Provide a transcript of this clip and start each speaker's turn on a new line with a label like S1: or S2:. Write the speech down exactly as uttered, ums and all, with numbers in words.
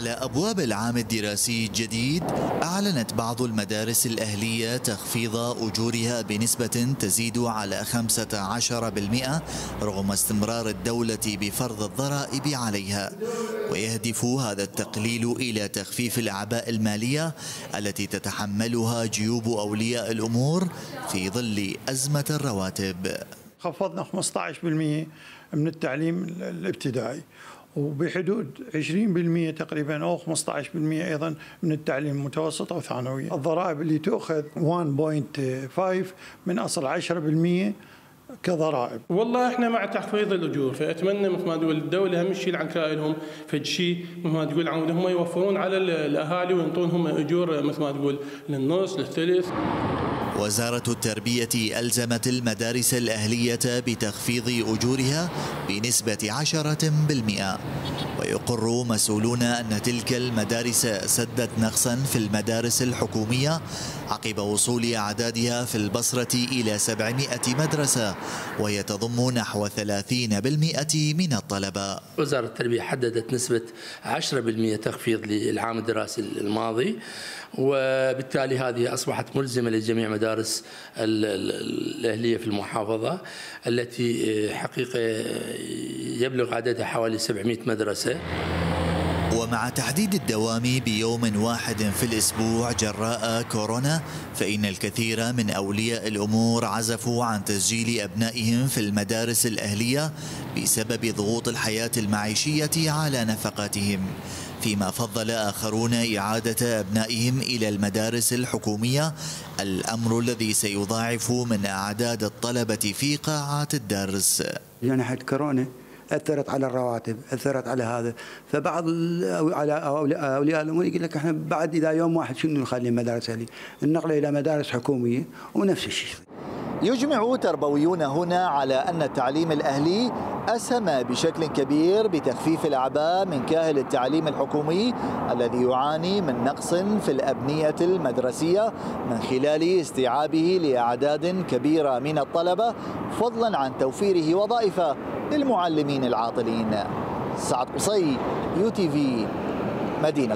S1: على أبواب العام الدراسي الجديد، أعلنت بعض المدارس الأهلية تخفيض أجورها بنسبة تزيد على خمسة عشر بالمئة رغم استمرار الدولة بفرض الضرائب عليها. ويهدف هذا التقليل إلى تخفيف الأعباء المالية التي تتحملها جيوب أولياء الأمور في ظل أزمة الرواتب.
S2: خفضنا خمسة عشر بالمئة من التعليم الابتدائي، وبحدود عشرين بالمئة تقريبا او خمسة عشر بالمئة ايضا من التعليم المتوسط او ثانوي. الضرائب اللي تؤخذ واحد فاصلة خمسة من اصل عشرة بالمئة كضرائب.
S3: والله احنا مع تخفيض الاجور، فاتمنى مثل ما تقول الدوله هم تشيل عن كائنهم فد شيء مثل ما تقول هم يوفرون على الاهالي وينطونهم اجور مثل ما تقول للنص للثلث.
S1: وزارة التربية ألزمت المدارس الأهلية بتخفيض أجورها بنسبة عشرة بالمئة. ويقر مسؤولون أن تلك المدارس سدت نقصا في المدارس الحكومية عقب وصول أعدادها في البصرة إلى سبعمئة مدرسة، وهي تضم نحو ثلاثين بالمئة من الطلبة.
S4: وزارة التربية حددت نسبة عشرة بالمئة تخفيض للعام الدراسي الماضي، وبالتالي هذه أصبحت ملزمة لجميع مدارس الأهلية في المحافظة التي حقيقة يبلغ عددها حوالي سبعمئة مدرسة.
S1: ومع تحديد الدوام بيوم واحد في الأسبوع جراء كورونا، فإن الكثير من أولياء الأمور عزفوا عن تسجيل أبنائهم في المدارس الأهلية بسبب ضغوط الحياة المعيشية على نفقاتهم، فيما فضل آخرون إعادة أبنائهم إلى المدارس الحكومية، الأمر الذي سيضاعف من أعداد الطلبة في قاعات الدرس.
S5: جائحة كورونا أثرت على الرواتب، أثرت على هذا، فبعض على أولياء الأمور يقول لك احنا بعد إذا يوم واحد شنو نخلي المدارس هذه؟ النقلة إلى مدارس حكومية ونفس الشيء.
S1: يجمع تربويون هنا على أن التعليم الأهلي أسهم بشكل كبير بتخفيف الأعباء من كاهل التعليم الحكومي الذي يعاني من نقص في الأبنية المدرسية من خلال استيعابه لأعداد كبيرة من الطلبة، فضلا عن توفيره وظائف للمعلمين العاطلين. سعد قصي، يو تي في، مدينة